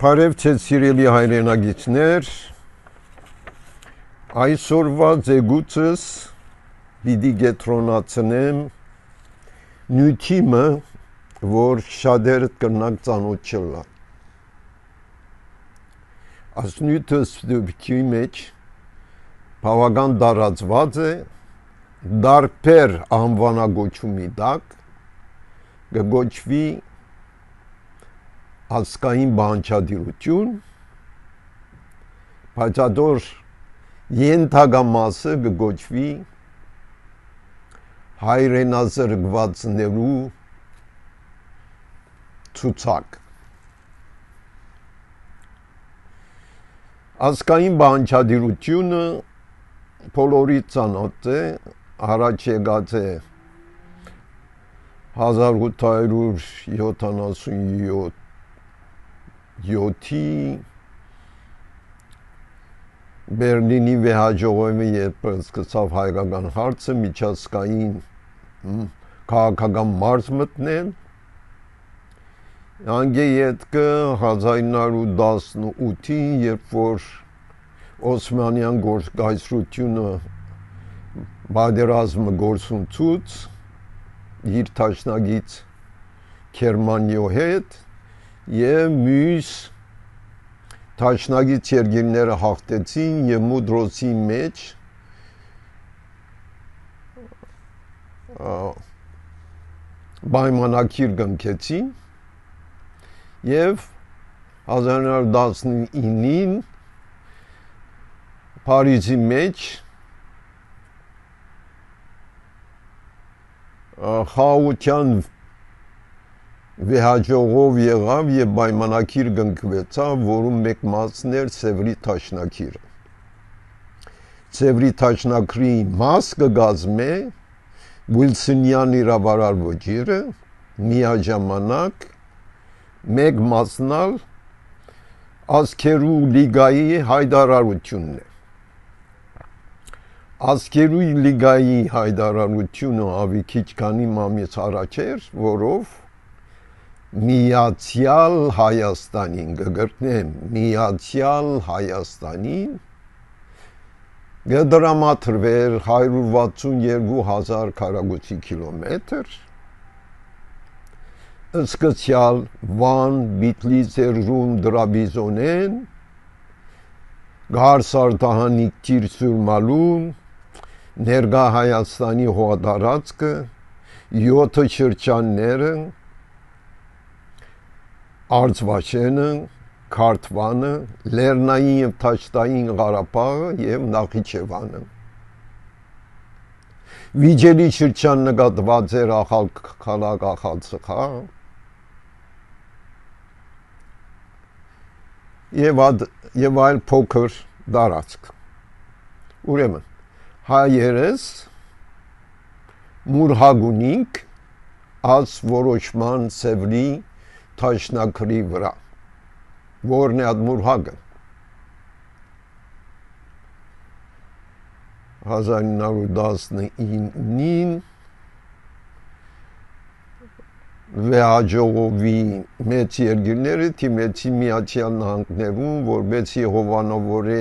Բարև ձեզ սիրելի հայրենագիտներ, այսօրվա ձեգուցս պիտի գետրոնացնեմ նյութիմը, որ շատերդ կրնակ ծանոթ չլա։ Այս նյութը ստուպքի մեջ բավական տարածված է, դարբեր անվանագոչումի տակ կգոչվի ազգային բանջարդիրություն, բայց ադոր ենթագամասը կգոչվի հայրենազրկվածներու ցուցակ։ Ազգային բանջարդիրությունը բոլորի ծանոթ է, առաջ եկած է 1877-ի Բերլինի վեհաջողովի երբ սկսավ հայկական հարցը միջազգային քաղաքական մարզ մտնել, անգե ետքը 1918-ին, երբ որ Օսմանյան կայսրությունը պատերազմը գործունցուց իր տաշնագից Գերմանիո հետ եւ մյուս տաշնագից երկիրները հաղթեցին եւ Մուդրոցի մեջ պայմանագիր կնքեցին եւ 1919-ին Փարիզի մեջ խաղաղության վեհաջողով եղավ եւ պայմանագիր կնքվեցավ, որում մեկ մասն էր Սևրի տաշնակիրը։ Սևրի տաշնակրի մաս կգազմե Վիլսոնյան իրավարար ոճիրը, միաժամանակ մեկ մասնալ ազգերու լիգայի հայտարարությունն է։ Ազգերու լիգայի հայտարարությունը ավի քիչ քանի մամից առաջ էր, որով Միացյալ Հայաստանին կգրտնեմ, Միացյալ Հայաստանին կդրամատրվեր 162,000 քառակուսի կիլոմետր, սկսյալ Վան, Բիթլիցերում, Դրաբիզոնեն, Գարսարտահանիկ Տիրսուրմալում, ներկա Հայաստանի հողատարածքը, 7 շրջանները, Արցվաշենը, Քարթվանը, Լեռնային եւ Թաշտային Ղարաբաղը եւ Նախիջևանը։ Վիճելի շրջան նկատված էր Ախալ քաղաք, Ախալ ծխա եւ այլ փոքր տարածք։ Ուրեմն հայերս մուրհագունինք աս որոշման Սևրի տաշնակրի վրա, որն է այդ մուրհագը 1919-ին վեհաջողովի մեծ երկիրները թիմեցի Միացյալ Նահանգներում, որպեսզի հովանավորե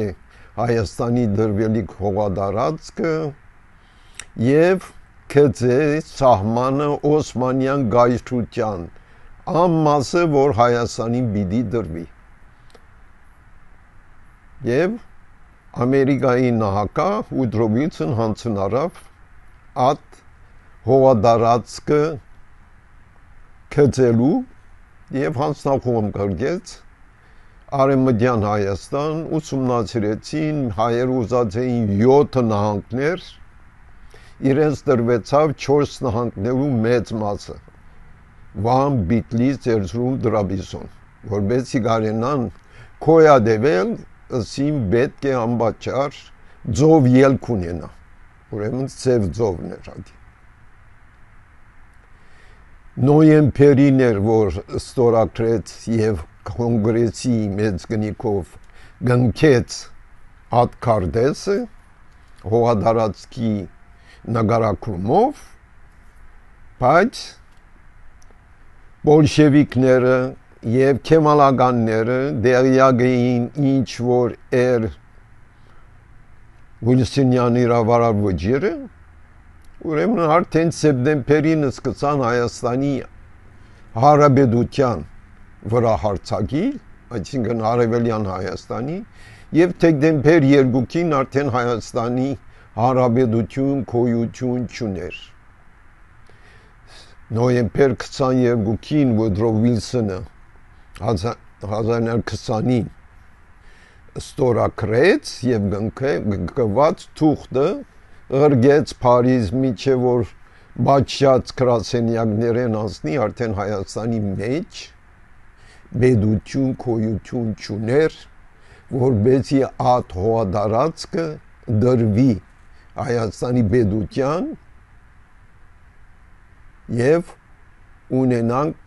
Հայաստանի դրվելիք հողատարածքը եւ գծե սահմանը Օսմանյան կայսրության ամմասը, որ Հայաստանին պիտի դրվի։ Եվ Ամերիկայի նահանգ Ուդրո Վիլսոն հանձնարավ այդ հողատարածքը գծելու եւ հանձնախոհում կրկեց Արևմտյան Հայաստան, ուսումնասիրեցին, հայերը ուզած էին 7 նահանգներ, իրենց տրվեցավ 4 նահանգներու մեծ մասը, Վան, Բիթլից, Էրզրում, Դրաբիզոն, որպեսզի կարենան քոյադեվել, ըսին պետք է անպատճառ ձով ելք ունենա, ուրեմն ծև ձովն էր ադի։ Նոյեմբերին էր, որ ստորագրեց եւ կոնգրեսի մեծ գնիկով գնքեց այդ քարտեզը հողատարածքի նկարագրումով, բայց բոլշևիկները եւ քեմալականները դերյակ էին ինչ որ Վիլսոնյան իրավարար վճիրը ուրեմն արդեն սեպտեմբերին սկսան Հայաստանի Հարաբերության վրա հարձակել, այսինքն Արևելյան Հայաստանի եւ դեկտեմբեր 2-ին արդեն Հայաստանի Հարաբերություն գոյություն չուներ։ Նոյեմբեր 22-ին Վուդրո Վիլսոնը 1920-ին ստորագրեց եւ գնկված թուղթը ըրգեց Փարիզ միջև որ բաչած գրասենյակներեն անցնի արդեն Հայաստանի մեջ բեդություն գոյություն չուներ որբեսի ատ հողատարածքը դրվի Հայաստանի բեդության եւ ունենանք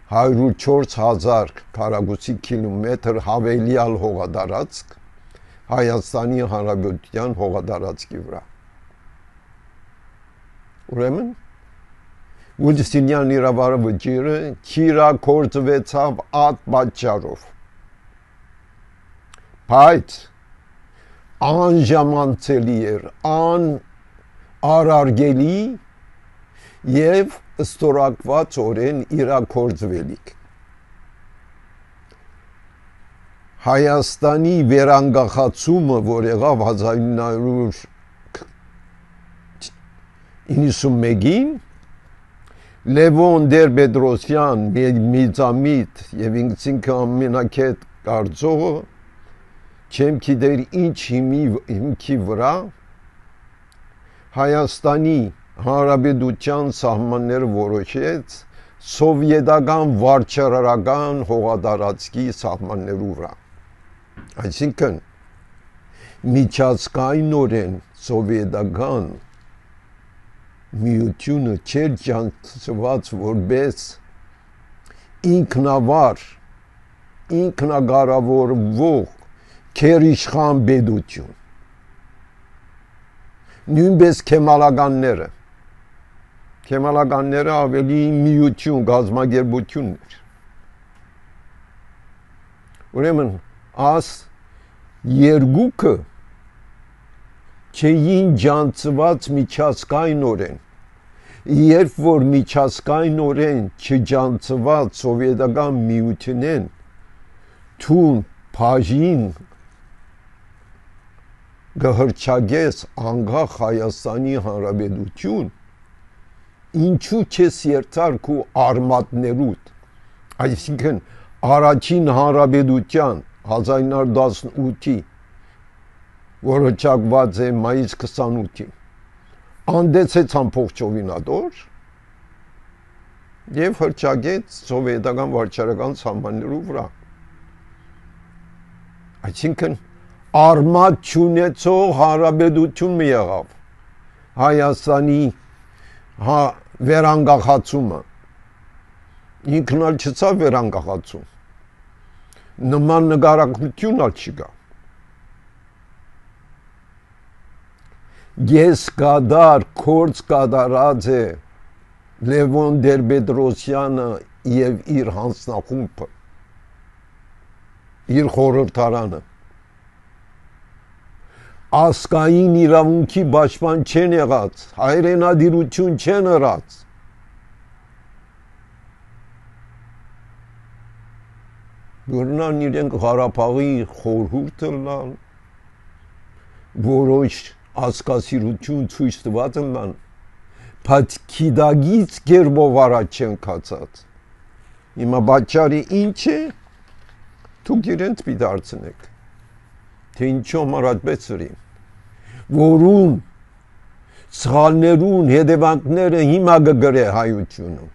104,000 քառակուսի կիլոմետր հավելյալ հողատարածք Հայաստանի Հանրապետության հողատարածքի վրա։ Ուրեմն Վիլսոնյան իրավարար վճիրը քիրակորձվեցավ ատ պատճառով։ Բայց անժամանցելի էր, անարարգելի եւ ստորակված օրեն իրակորձվելիք։ Հայաստանի վերանգախացումը, որ եղավ 1991-ին Լևոն Տեր-Պետրոսյան միծամիտ եւ ինքնին ամենակետ կարծողը չեմ գիտեր ինչ հիմքի վրա Հայաստանի Հանրապետության սահմանները որոշեց սովետական վարչարարական հողատարածքի սահմաններու վրա։ Այսինքն միջազգայինորեն սովետական միությունը չէր ջանցված որպես ինքնավար ինքնակառավարվող քերիշխան բեդություն նույնպես քեմալականները ավելի միություն գազམ་ագերբություն էր ուրեմն աս երկուքը չէին ջանցված միջազգայինորեն երբ որ միջազգայինորեն չջանցված սովետական միությունեն թուն բաժին գհրճագես անգախ Հայաստանի Հանրապետություն ինչու չես երթար քու արմատներուդ այսինքն առաջին հանրապետության 1918-ի որոչակված է մայիս 28-ին անդեցեց ամբողջովինադոր եւ հրճագեց սովետական վարչարական սահմաններու վրա այսինքն արմատ չունեցող հանրապետություն մի եղավ Հայաստանի վերանգախացումը ինքնալ չծա վերանգախացում նման նկարագրություն ալ չկա ես կադար կորց կադարած է Լևոն Տեր-Պետրոսյանը եւ իր հանձնախումբը իր խորհրդարանը ասկային իրավունքի պաշտպան չեն եղած հայրենադիրություն չեն ըրած Գորնան իրենք Ղարաբաղի խորհուրդը լան որոշ ասկասիրություն ցույց տված են լան բայց քիդագից գերբով առաջ չեն կացած հիմա բաճարի ինչ է դուք իրենց պիտի դարձնեք թե ինչու համար այդպես ըրին որում սխալներուն հետևանքները հիմա կգրե հայությունը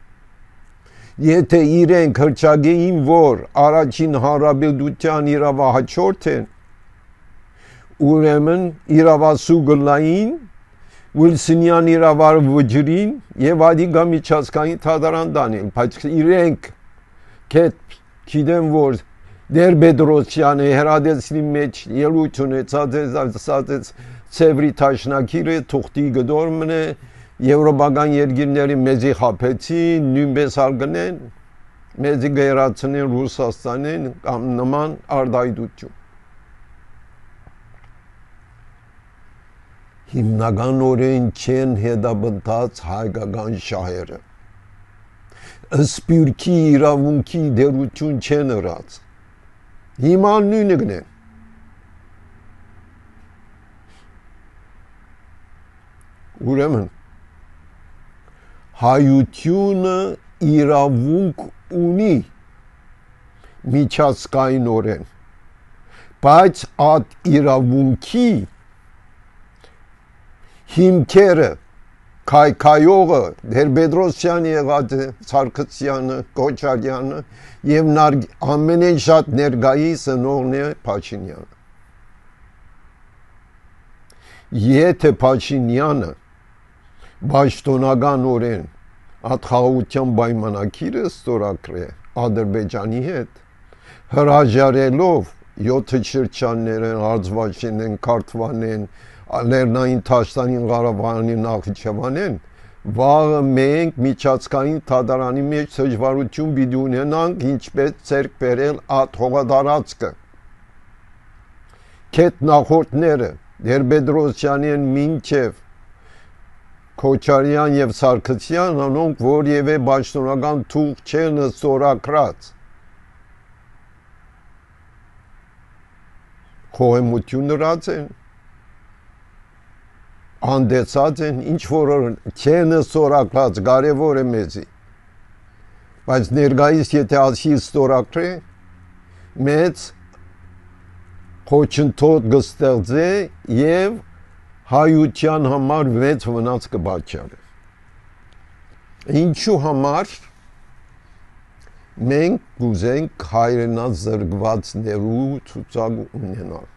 եթե իրենք հրճագեին որ առաջին հանրապետության իրավահաջորդ են ուրեմն իրավասու գլային Վիլսոնյան իրավարար վճիրին եւ ադիգա միջազգային թադարան դանին բայց իրենք գիտեն որ Տեր-Պետրոսյանը հերադեսնի մեջ ելույթ ունեցած ծևրի տաշնակիրը թուղթի գդորմն է եվրոպական երկիրների մեզի խափեցին նույնպես ալգնեն մեզի գերացնեն Ռուսաստանին կամ նման արդայդություն։ Հիմնականորեն չեն հետապնդած հայկական շահերը։ Սպյուրքի իրավունքի դերություն չեն ըրած։ Հիմա նույնն է։ Ուրեմն հայությունը իրավունք ունի միջազգայինորեն, բայց այդ իրավունքի հիմքերը քայքայողը Տեր-Պետրոսյանը եղած է, Սարգսյանը, Քոչարյանը եւ ամենեն շատ ներկայիս ընողն է Փաշինյանը։ Եթե Փաշինյանը պաշտոնականորեն այդ խաղաղության պայմանագիրը ստորագրե Ադրբեջանի հետ, հրաժարելով 7 շրջաններն, Արցախին, Քարթվանեն, Լեռնային Թաշտանին, Ղարաբաղին, Նախիջևանին, վաղը մենք միջազգային թատրոնի մեջ դժվարություն պիտի ունենանք, ինչպես ցերկ բերել այդ հողատարածքը։ Քետ նախորդները Տեր-Պետրոսյանին մինչև Քոչարյան եւ Սարգսյան անոնք որևէ պաշտոնական թուղթ չեն ստորագրած։ Խոհեմություն նրած են, անդեցած են, ինչ որ չեն ստորագրած, կարևոր է մեզի։ Բայց ներկայիս եթե ասի ստորագրե, մեծ խոչընդոտ կստեղծե եւ հայության համար մեծ վնաս կպատճառի։ Ինչու համար մենք կուզենք հայրենազրկվածներու ցուցակ ունենալ։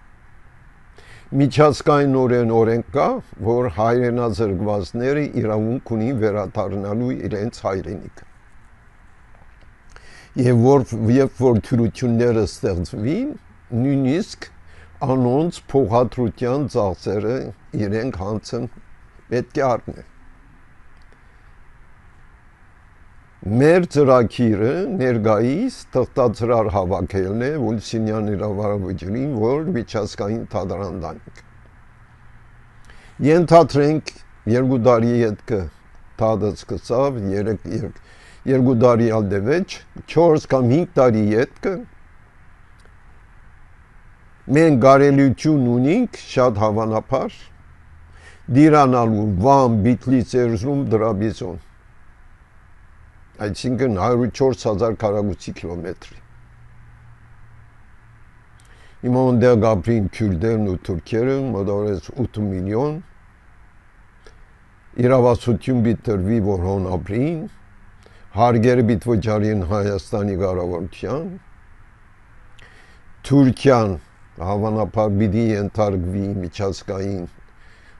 Միջազգայինորեն օրենք կա, որ հայրենազրկվածները իրավունք ունին վերադառնալու իրենց հայրենիքը։ Եվ որ թյուրությունները ստեղծվին, նույնիսկ անոնց փոխադրության ծախսերը իրենք հանցն պետք է առնեն։ Մեր ծրագիրը ներկայիս թղթածրար հավաքելն է Վոլսինյան իրավարավջրին, որ միջազգային թատրոն տանք։ Ենթադրենք 2 տարի հետքը թադը սկսավ, 2 տարի ալդևեջ, 4 կամ 5 տարի հետքը մենք կարելիություն ունենք շատ հավանաբար դիրանալու Վան, Բիթլից, Էրզրում, Դրաբիզոն, այսինքն 104,000 քառակուսի կիլոմետրի։ Հիմա ondեղ գաբրին քյուրդերն ու թուրքերը մոտավորապես 8 միլիոն, իրավասություն բիտրվի, որ հոն ապրին, հարգերը բիտվոջարին Հայաստանի կառավարության, Թուրքիան հավանաբար պիտի ենթարկվի միջազգային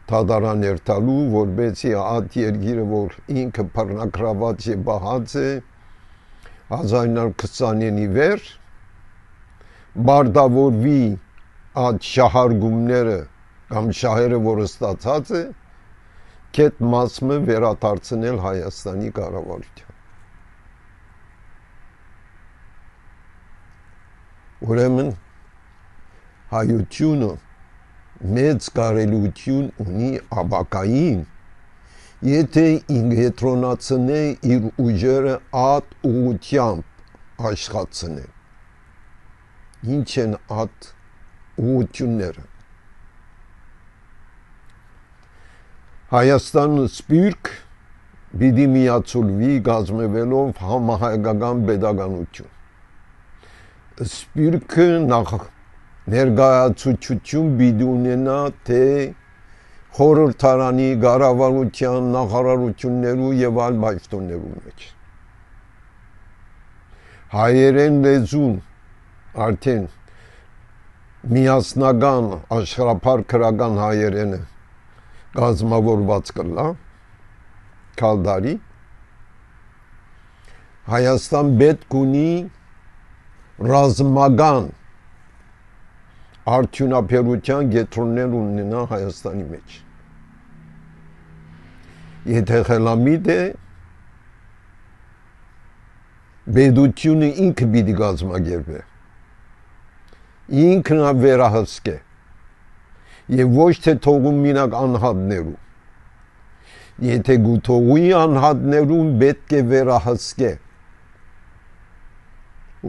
թատրոն երթալու, որպեսզի այդ երկիրը, որ ինքը բռնակրաված է բահած է 1920-ի վեր, բարտավորվի այդ շահարգումները կամ շահերը, որը ստացած է, կետ մասը վերադարձնել Հայաստանի կառավարության։ Ուրեմն հայությունը մեծ կարելություն ունի ապակային, եթե ինգետրոնացնե իր ուժերը այդ ուղությամբ աշխատցնե։ Ինչ են այդ ուղությունները։ Հայաստանը սպյուրք պիտի միացուլվի գազմևելով համահայկական պետականություն։ Սպյուրքը ներկայացուցություն պիտի ունենա թե խորհրդարանի, կառավարության, նախարարություններու եւ այլ պաշտոններու մեջ։ Հայերեն լեզուն արդեն միասնական աշխարհափառ քրական հայերենը կազմավորված կլա կալդարի Հայաստան պետք ունի ռազմական արդյունաբերության կենտրոններ ունենա Հայաստանի մեջ։ Եթե խելամիտ է Բեդությունը ինքը պիտի կազմակերպի, ինքն է վերահսկե եւ ոչ թե թողում մինակ անհատներու։ Եթե գուտողի անհատներուն պետք է վերահսկե,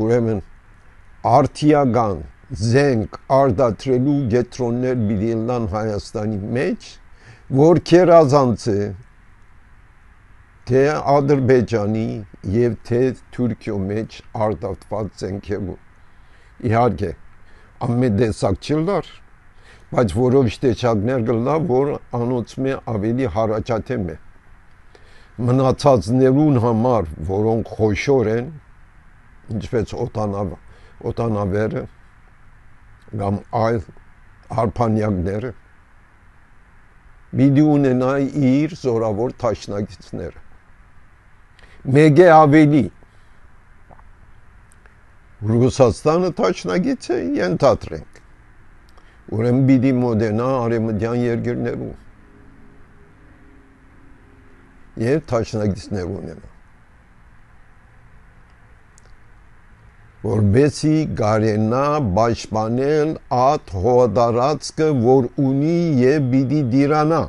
ուրեմն արդիական զենք արդատրելու գետրոններ պիտի լան Հայաստանի մեջ, որ քերազանց է թե Ադրբեջանի եւ թե Թուրքիո մեջ արդատված զենքերու։ Իհարկե, ամեն տեսակ չլար, բայց որոշ տեսակներ կլա, որ անոնցմե ավելի հարաճատեմ է։ Մնացածներուն համար, որոնք խոշոր են, ինչպես օտանավերը կամ այլ հարփանյակները, պիտի ունենա իր զորավոր թաշնակիցները։ Մեկ է ավելի, Ռուսաստանը թաշնակից է, ենթադրենք, ուրեմն պիտի մոտենա արևմտյան երկրներու եւ թաշնակիցներ ունենա, որբեսի գարենա պաշտպանել այդ հողատարածքը, որ ունի եւ պիտի դիրանա։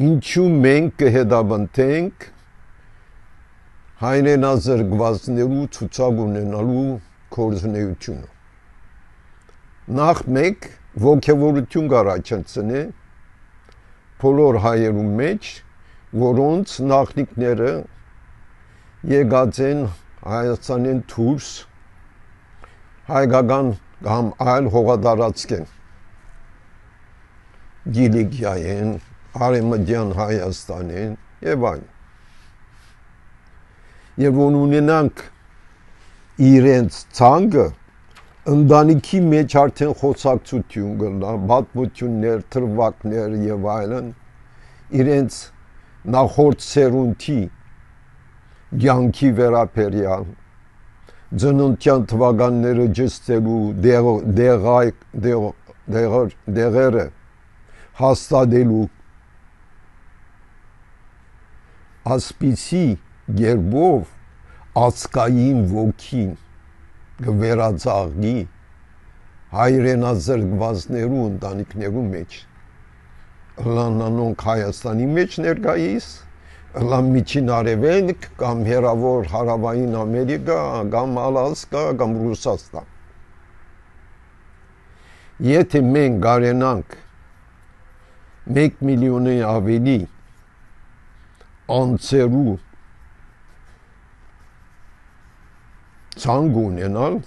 Ինչու մենք կհետապնդենք հայրենազրկվածներու ցուցակ ունենալու կորզունեությունը։ Նախ մեկ ոգևորություն կառաջացնե բոլոր հայերու մեջ, որոնց նախնիկները եկած են Հայաստանեն դուրս հայկական կամ այլ հողատարածքեն, Գիլիգիայեն, Արևմտյան Հայաստանեն եւ այլն։ Եվ ունենանք իրենց ցանկը, ընտանիքի մեջ արդեն խոսակցություն կլա, պատմություններ, թրվակներ եւ այլն, իրենց նախորդ սերունդի կյանքի վերաբերյալ, ծննդյան թվականները ջստելու դեղերը հաստատելու, ասպիսի գերբով ազգային ոգին կվերածաղի հայրենազրկվածներու ընտանիքներու մեջ, լանանոնք Հայաստանի մեջ ներկայիս, լան միջին արևելք կամ հեռավոր հարավային Ամերիկա, կամ Ալասկա, կամ Ռուսաստան։ Եթե մենք գարենանք 1 միլիոնի ավելի անձերու ցանկ ունենալ,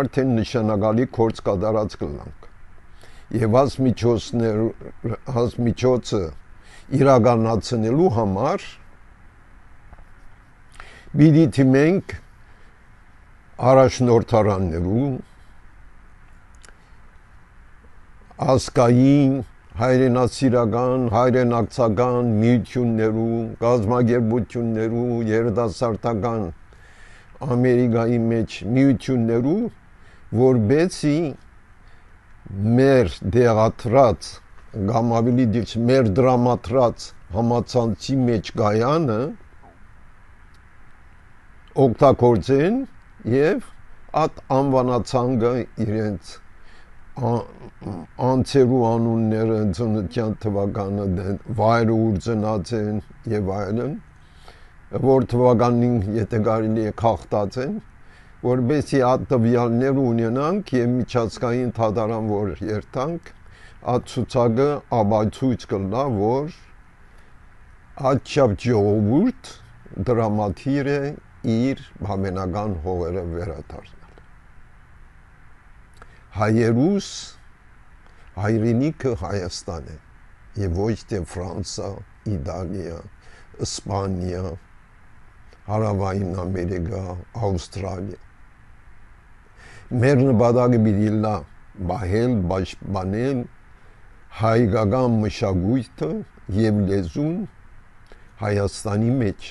արդեն նշանակալի գործ կատարած կլանք։ Եվ միջոցը իրականացնելու համար պիտի թիմենք առաջնորդարաններու, ազգային, հայրենասիրական, հայրենակցական միություններու, կազմակերպություններու, երիտասարդական Ամերիկայի մեջ միություններու, որբեսի մեր դեղատրած կամ ավելի դիպ մեր դրամատրած համացանցի մեջ գայանը օգտագործեն եւ այդ անվանացանգը իրենց անձերու անունները, ծննդյան թվականը, վայրը ուր ծնած են եւ այլն, որ թվականին եթե կարելի է քաղտած են, որբեսի այդ տվյալներ ունենանք եւ միջազգային թատարան որ երթանք, այդ ցուցակը ապացույց կլա, որ աչափ ժողովուրդ դրամատիր է իր համենական հողերը վերադառնալ։ Հայերուս հայրենիքը Հայաստան է եւ ոչ թե Ֆրանսա, Իտալիա, Իսպանիա, Հարավային Ամերիկա, Ավստրալիա։ Մեր նպատակը պիտի լա բահել, պաշտպանել հայկական մշակույթը եւ լեզուն Հայաստանի մեջ,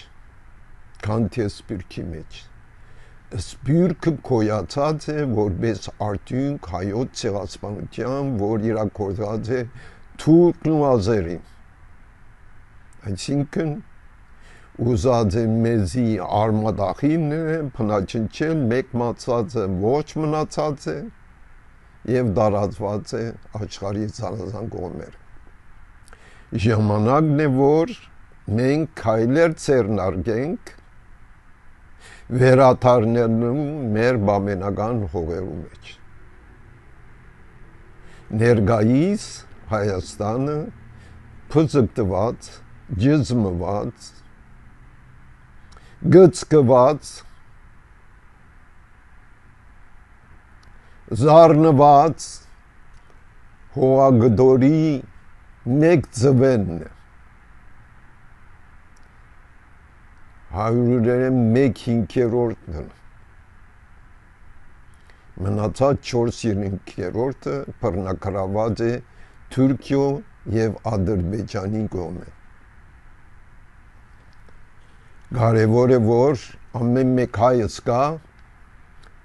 քան թե սփյուռքի մեջ։ Սփյուռքը կոյացած է որպես արդյունք հայոց ցեղասպանության, որ իրականացած է թուրքն ու ազերին։ Այսինքն ուզած է մեզի արմադախինը փնաչնչել, մեկ մացածը ոչ մնացած է եւ դարածված է աշխարհի ցանազան կողմեր։ Ժամանակն է, որ մենք քայլեր ցերնարգենք վերաթարնելու մեր բամենական հողերու մեջ։ Ներկայիս Հայաստանը փծկտված, ջզմված, գծկված, զարնված հողագդորի մեկ ձվենն է։ 101/5-ն մնացած 4/5-ը բռնակրաված է Թուրքիո եւ Ադրբեջանի կողմը։ Կարևոր է, որ ամեն մեկ հայ զգա,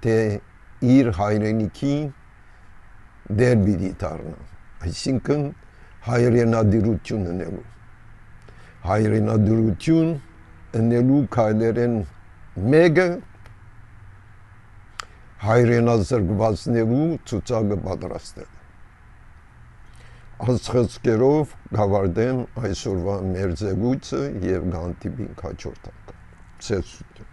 թե իր հայրենիքի դեր պիտի դառնա, այսինքն հայրենադիրություն ունելու։ Հայրենադիրություն ունելու քայլերեն մեկը հայրենազրկվածներու ցուցակը պատրաստել։ Աստղերով գավարդեմ այսօրվա մեր զեկույցը եւ գանտիպին հաջորդ անգամ։ Ցեզություն։